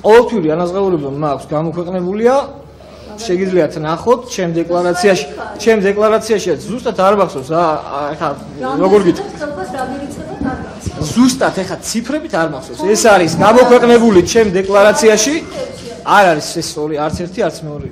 ყოველთვიური ანაზღაურება მაქვს გამოქვეყნებულია. შეგიძლიათ ნახოთ ჩემ დეკლარაციაშიც ზუსტად არ მახსოვს ახლა როგორ გითხრათ ზუსტად ახლა ციფრებით არ მახსოვს ეს არის გამოქვეყნებული ჩემ დეკლარაციაში არ არის ეს ორი არც ერთი არც მეორე